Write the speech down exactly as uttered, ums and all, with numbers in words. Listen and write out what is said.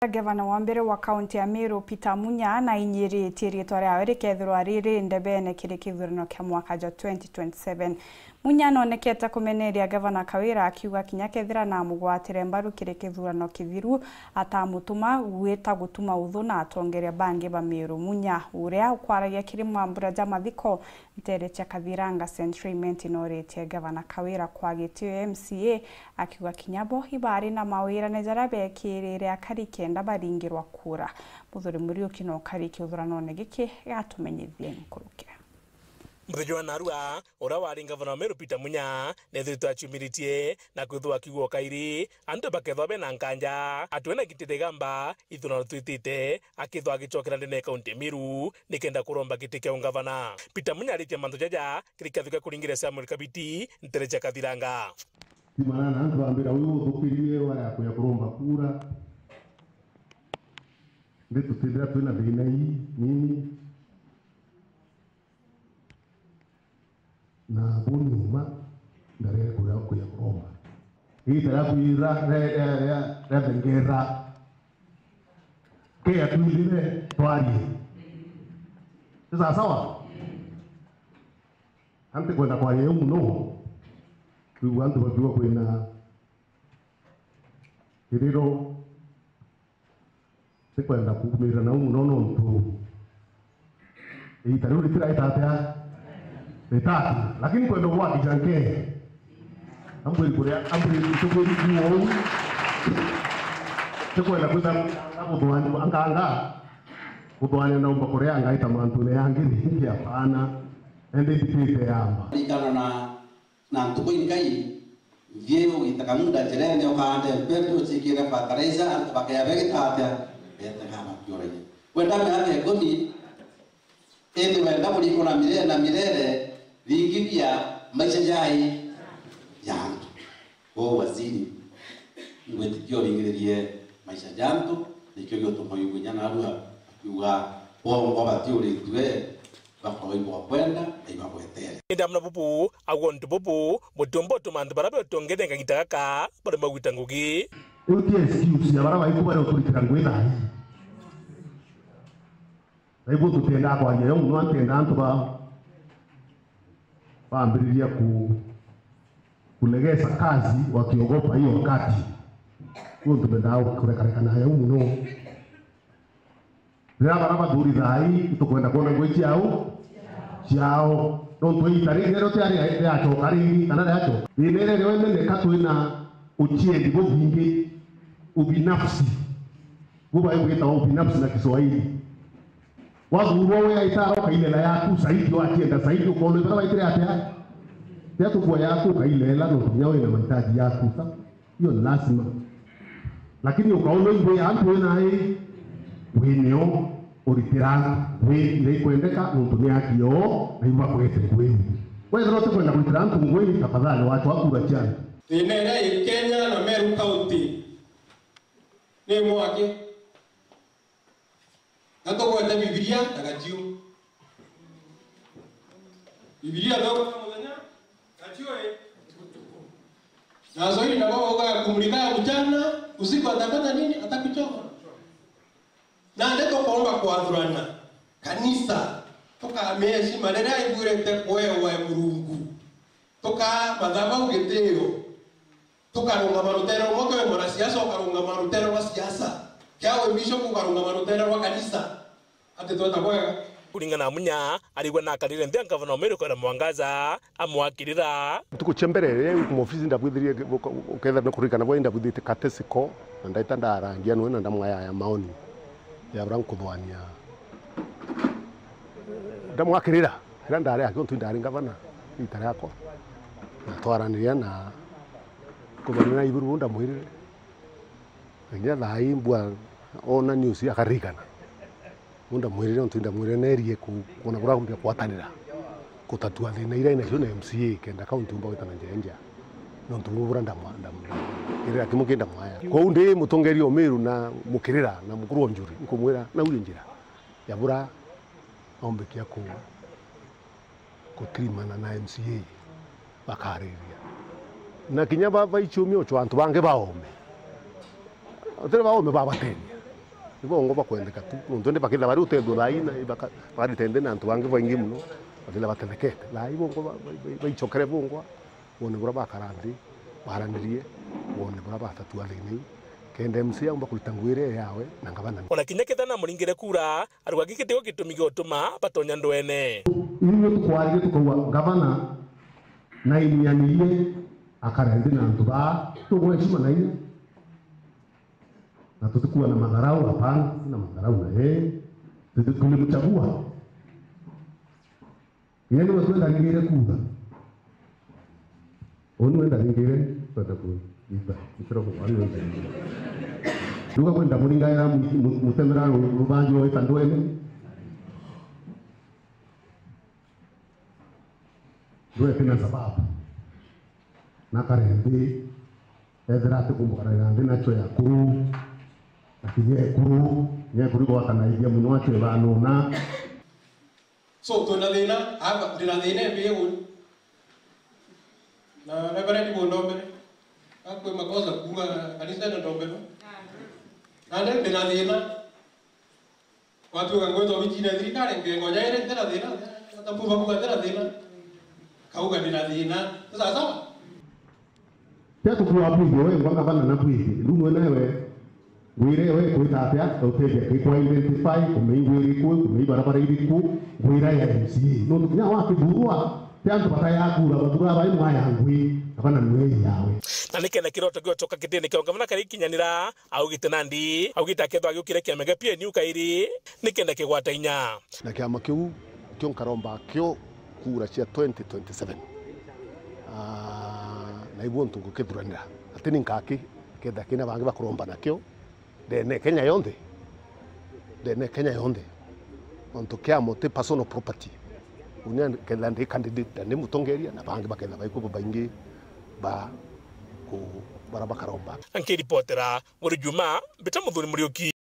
Gavana wa mbere wa kaunti ya Meru, Peter Munya, nainyiritie riitwa riawe rikethirwa riri ndebene kiri kithurano kia mwaka jwa twenty twenty-seven. Munya noonekete kumeneria Gavana Kawira, akiuga kinya kethira namugwatire mbaru kiri kithurano kithiru, atamutuma gwita gutuma uthu na atongeria bangi ba Meru. Munya, uria ukwaragia kiri mambura ja mathiko, ntere cia Kathiranga Central Imenti nooritie Gavana Kawira kwa gitio M C A, akiuga kinya bo ibari na mawirane jaria beekirire akari kenda baringirwa kura. Muthuri Muriuki no ukari kithuranone giki gatumenyithie nkuruki. Muthenya wa narua, uria wari ngavana wa Meru Peter Munya, neethiritwe aciumiritie na kwithwa akiugwa kairi, antu bakethwa bena nkanja, atwe na giti rigamba, ithurano twitite, akithwa agicokera ndene ya kaunti ya Meru, nikenda kuromba giti kia ungavana. Peter Munya aritie mantu jaja, kiri kiatho kia kuringiria Samuel Kabiti, ntere cia Kathiranga. Ti manana antu bambira, "Uyu uthukiririe wa ya kuya kuromba kura." Ndi tutithira twina thina ii nini. Na buni uma ndarere kuya, kuya kuromba. Iita riaku ira, ria, ria, ria, riathengeera. Kea twithire twarie. Ni sawa sawa? Anti kwenda kwaria uu muno. Kwigua antu bakiuga kwina kiriro. Tikwenda kuumira nau muno nontu iita riu ritiraita atia? Ritati. Lakini kwenda gwakija nkee. Ambwiri kuria, ambwiri kutukwiri kuo uu. Tikwenda kwita kuthwani anganga. Kuthwani naumba kuria ngaita mantune yangi ringi apana. Ende nditite yamba. Ringana na Na ntuku inkai, nthie ugite kamuda njirene, ukaande mpetu, uciikire fertilizer, antu bakea begita atia? Beetega bakiuragia. Wenda miaka ikumi, indi wenda kuringwa na mirere na mirere, ringi bia maisha jai ja antu. Uu waziri, ngwitikia uringiririe maisha ja antu, nikio giutuma uigua inya narua akiuga, bongwa batiuritue, bakoigwa kwenda na ibagwetere. Indi amwe na bubu, agwo untu bubu butiumba utuma antu baria betongeria kagita gaka baremwa gwita ngugi. Riu ti excuse ya baria baiku baria ukuritira ngugi thaa ii. Na ibu tutiendaa kwaria yo muno, antienda antu ba, bambiriria ku, kulegesa kazi wakiogopa hiyo wakati. Nontu bendaa kurekareka nayo muno. Riria baria bathuri thaa ii itukwenda kwona ngugi ciao, ciao. Nontu iita riri riria tiari riacoka ringi, kana riacoka. Thina iria riu imeneka twina uchiedi bubingi, ubinafsi. Bubai bwitawa ubinafsi na Kiswahili. Wathurwa we aitara ukailela yaku zaidi, wakienda zaidi, ukoona ibara waitire atia? Tia tukua yaku ukailela, nontu kinya wina mahitaji yaku. Sa-, hiyo ni lazima. Lakini ukaona ibu ya antu wina ai, winio uritira antu, wi iria ikwendeka, nontu ni aki yoo, na ibakwete ngui. Wethira utikwenda kuritira antu ngui, tafadhali wacha wakura ciana. Thina iria i Kenya na Meru County ni mwaki. Na tugwete Bibilia na gaciu. Bibilia thoma muthenya, gaciu i. Na Swahili nabo baugaga, "Kumulika ya mchana, usiku atafanya nini? Atakuchoma." Nandi tukoomba kwathurana kanisa, tukamia heshima riria ithurite kwewa Murungu. Tukaa mathabau gitio. Tukarungama rutere rumwe, kwi mwanasiasa ukarungama rutere rwa siasa. Kia wi bishop ukarungama rutere rwa kanisa. Ati tweta bwega. Kuringana na Munya, arigwe na akarire nthi a ngavana wa Meru Kawira Mwangaza, amwakirira. Ntuku cia mbere, riria kuma ofisi ndabwithirie, ukethira ni kuririkana bwa ndabwithite catechetical, na ndaita ndarangia nwe na ndamwaya ya maoni ya bura nkuthwania. Ndamwakirira, riria ndari aki untu ndari ngavana, riita riakwa. Na twaraniria na kuthwania na iburu ndamwirire. Na kinya thaa ii mbua ona news akaririkana. Uu ndamwirire, untu ndamwirire nerie ku-, kwona buria akumbia kwatanira gutatua thina iria inacio na M C A, kenda kaunti umba gwita na njira injega. Nontu buu buria ndamwa-, ndam-, ndam-, kirira kimwe ki ndamwaya. Kwou ndi mutongeria o Meru na mukirira na mukuru o Njuri, nkumwira, na uyu njira ya buria aumbikia ku-, gutirimana na M C A bakariria. Na kinya ba, baichumia ucho antu bangi baome. Utiri baome babateria. Ni bongwa bakwendeka tu, nontu indi bakethira bari utethua thaa ii na baka-, bakarite nthi na antu bangi baingi mono, bakethira batethekete. Thaa ii bongwa ba-, ba-, ba-, baicokere bongwa, bone buria bakara nthi, baranirie, bone buria batatua thina iu, kenda M C A aumba kurita ngugi iria yawe na ngavana. Ona kinya kethira namuringire kura, arauga giki tigio gitumi gia utuma batonya ndwene. Ithui tukwaririe tukauga ngavana nainianirie akare nthi na antu baa, tugwecima na inya. Na tutikuwa na madharau, hapana, sina madharau na yeye. Tuti-, tulimchagua. Yeye niwe twenda ringire kura. Uu niwe ndaringire, twenda kuiba. Itira kuwa niwe ndaringire. Nduga kwenda muringaira mu-, mu-, mutemera ru-, rubanju rwa itandwene. Ndwete na sababu. Na kare nthi, ethira atikumbukanira nthi nacho ya kuru, na kinya ekuru, kinya ekuru igwatanaithia mono acho ibanona. So, twina thina, aba, ndina thina imbi uu. Na Reverend bundombere, akwi makosa kuuga kanisa na ndombero. Na ndi ndina thina. Watuika ngwitwa wicine thirikari, ngengo jairi ntina thina, atabu bakuga ntina thina. Kauga ndina thina. Sawa sawa? Tia tukua bwithie, we ngwa ngavana na bwithie. Riu mwe nawe, ngwire we kwita atia, utethia ki kwa identify, kumenya ngwiri ku, kumenya barabara iriku, ngwira ya M C A. Nontu kinya wakithurwa, ti antu batayakura, bathura bai mwaya ngwi, ngavana niwe yawe. Na nikenda kiroto giochoka kitini kia ngavana karikinyanira, augite nandi, augite akethwa agiukire kiama gia P N U kairi, nikenda kigwata inya. Na kiama kiu kio nkaromba kio kura cia twenty twenty-seven. Ah, na ibu untu ngukithuranira. Ati ni nkaki, kenda kina bangi bakuromba nakio, ndene Kenya yonthe. Ndene Kenya yonthe. Untu kiama ti personal property. Unya kenda ndi candidate, na ndi mutongeria, na bangi bakenda baikuba baingi ba ku-, bara bakaromba. Nkiripotera, Buri Juma, mbita Muthuri Muriuki.